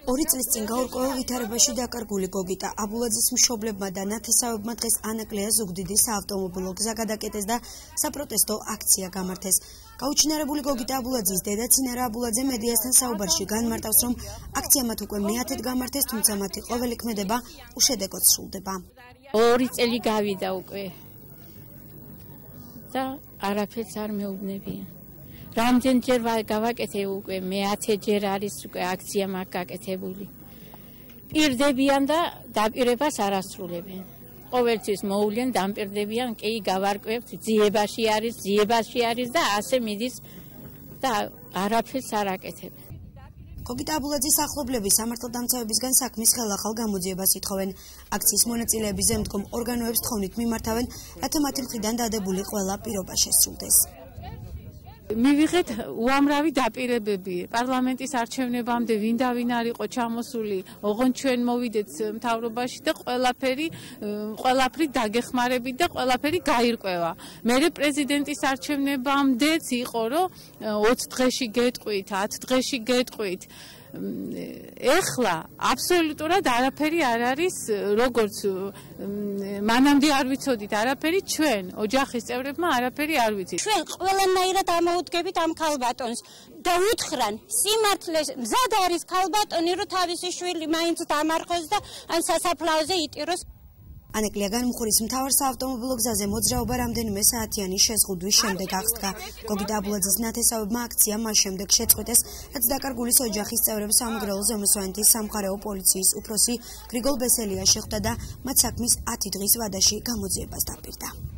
2 წლის წინ გაურკვეველ ვითარებაში დაკარგული გოგიტა აბულაძის მშობლებმა და ნათესავებმა დღეს ანაკლია ზუგდიდი საავტომობილო გზა გადაკეტეს და საპროტესტო აქცია გამართეს. გაუჩინარებული გოგიტა აბულაძის დედა ცინარა აბულაძე მედიასთან საუბარში განმარტავს, რომ აქცია მათ უკვე მე-10-ად გამართეს, თუმცა მათი ყოველი ქმედება უშედეგოდ სრულდება. 2 წელი გავიდა უკვე და არაფერს არ მეუბნებიან. რამდენჯერ გავაკეთე უკვე მე-10-ჯერ არის უკვე აქცია მაგ გაკეთებული. პირდებიან და დაპირებას არ ასრულებენ. ყოველთვის მოუვლენ დამპირდებიან, კი გავარკვევთ, ძიებაში არის და ასე მიდის და არაფერს არ აკეთებენ. გოგიტა აბულაძის ახლობლები სამართალდამცავებისგან საქმის ხელახალ გამოძიებას ითხოვენ. აქციის მონაწილეები ზემდგომ ორგანოებს თხოვნით მიმართავენ, რათა მათი მხრიდან დადებული ყველა პირობა შესრულდეს. მივიღეთ უამრავი დაპირებები პარლამენტის არჩევნებამდე ვინ არ იყო ჩამოსული, ოღონდ ჩვენ მოვიდეთ მთავრობაში და ყველაფერი დაგეხმარებით და ყველაფერი გაირკვევა. მერე პრეზიდენტის არჩევნებამდეც იყო, რომ 20 დღეში გეტყვით, 10 დღეში გეტყვით. ეხლა აბსოლუტურად არაფერი არ არის, როგორც მანამდე არ ვიცოდით არაფერი, ჩვენ ოჯახის წევრებმა არაფერი არ ვიცით. ჩვენ ყველანაირად ამოუდგებით ამ ქალბატონს და უთხრან სიმართლე მზად არის ქალბატონი, რომ თავისი შვილი მაინც დამარხოს და ან სასაფლაოზე იტიროს. ანაკლია განმხურის მთავარ საავტომობილო გზაზე მოძრაობა რამდენიმე საათიანი შეზღუდვის შემდეგ აღსდგა. გოგიტა აბულაძის ნათესავებმა აქცია მას შემდეგ შეწყვეტეს, რაც დაკარგულის ოჯახის წევრებს სამეგრელო ზემოსვანეთის სამხარეო პოლიციის უფროსი გრიგოლ ბესელია შეხვდა და მათ საქმის 10 დღის ვადაში გამოძიებას დაპირდა.